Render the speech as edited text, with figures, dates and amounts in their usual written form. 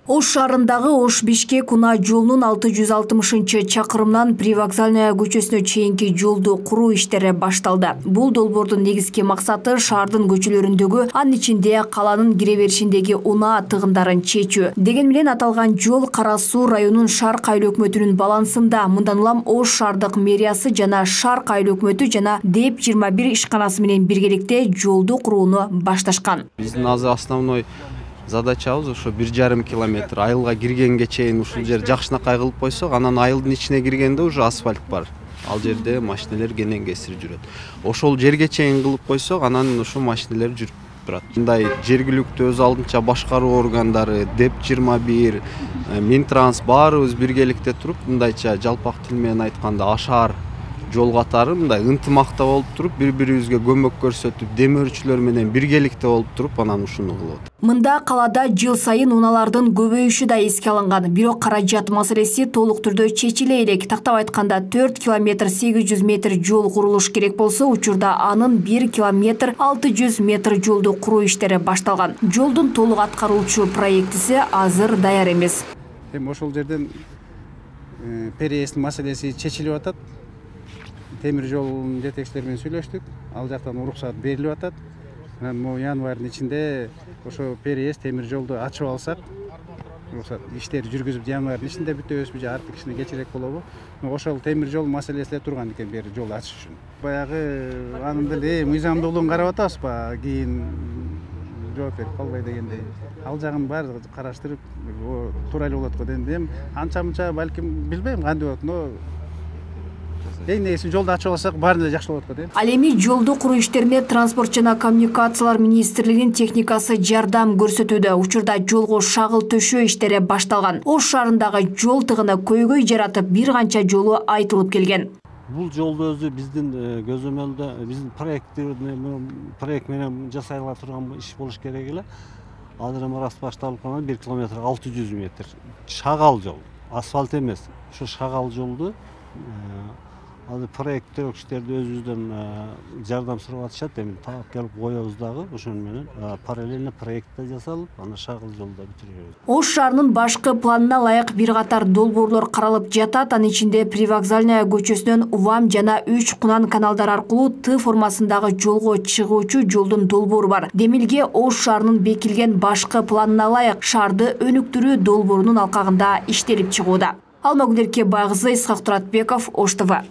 Ош шаарындагы Ош-Бишкек унаа жолунун 660-чакырымынан Привокзальная көчөсүнө чейинки жолду куруу иштери башталды. Бул долбоордун негизги максаты шаардын көчөлөрүндөгү, анын ичинде каланын кире беришиндеги унаа тыгындарын чечүү. Деген менен аталган жол Кара Суу районунун Шарк айыл өкмөтүнүн балансында. Мындан улам Ош шаардык мэриясы жана Шарк айыл өкмөтү жана ДЭП 21 ишканасы менен биргеликте жолду курууну башташкан. Биздин азыр основной задачабыз ошо 1,5 километр айылга киргенге чейин ушул жер жакшынакай кылып койсок, анан айылдын ичине киргенде уже асфальт бар. Ал жерде машиналар кенен кесир жүрөт. Ошол жерге чейин кылып койсок, анан ошо машиналар жүрүп турат. Мындай жергиликтүү өз алдынча башкаруу органдары, ДЭП 21, Минтранс баарыбыз биргеликте туруп, мындайча жалпак тил менен айтканда ашаар жол катары мындай ынтымакта болуп туруп, бири-бирибизге көмөк көрсөтүп, демөөрчүлөр менен биргеликте болуп туруп, анан ушуну кылып атат. Мында калаада жыл сайын унаалардын көбөйүшү да эске алынган. Бирок каражат маселеси толук түрдө чечиле элек. Тактап айтканда 4 километр 800 метр жол курулуш керек болсо, учурда анын 1 километр 600 метр жолду куруу иштери башталган. Жолдун толук аткаруучу проектиси азыр даяр эмес. Эми ошол жерден переезд маселеси чечилип атат. Темир жолдун жетекчилери менен сүйлөштүк. Ал жактан уруксат берилип атат. Анан январдын ичинде ошо переезд темир жолду ачып алсак, уруксат иштери жүргүзүп январдын ичинде бүтөбүзбү же арты кичине кечирээк болобу? Ошол темир жол маселеси эле турган экен бери жол ачыш үчүн. Баягы анын деле мыйзамдуулугун карап атабызбы? Кийин жооп берип калбай дегендей. Ал жагын баары караштырып, туура эле болот го дедим. Анча-мынча балким билбейм кандай болот, но эң негизи жолду ачып алсак баары эле жакшы болот го дейм. Ал эми жолду куруу иштерине Транспорт жана коммуникациялар министрлигинин техникасы жардам көрсөтүүдө. Учурда жолго шагыл төшөө иштери башталган. Ош шаарындагы жол тыгыны көйгөй жаратып, бир канча жолу айтылып келген. Бул жолду өзү биздин көзөмөлдө, биздин проект менен жасайла турган иш болуш керек эле. Азыр эми рас башталып калган 1 километр 600 метр. Шагал жол, асфальт эмес. Ошо шагал жолду азыр проекттер кишилерди өзүбүздөн жардам сурап атышат. Эми таап келип коебуз дагы. Ошону менен параллельно проект да жасалып, аны шагыл жолдо бүтүрөбүз. Ош шаарынын башкы планына ылайык бир катар долбоорлор каралып жатат. Анын ичинде Привокзальная көчөсүнөн Увам жана 3 Кунан каналдары аркылуу Т формасындагы жолго чыгуучу жолдун долбоору бар. Демилге Ош шаарынын бекилген башкы планына ылайык шаарды өнүктүрүү долбоорунун алкагында иштелип чыгууда. Алмагүл Эркебай кызы, Исхак Туратбеков, Ош ТВ.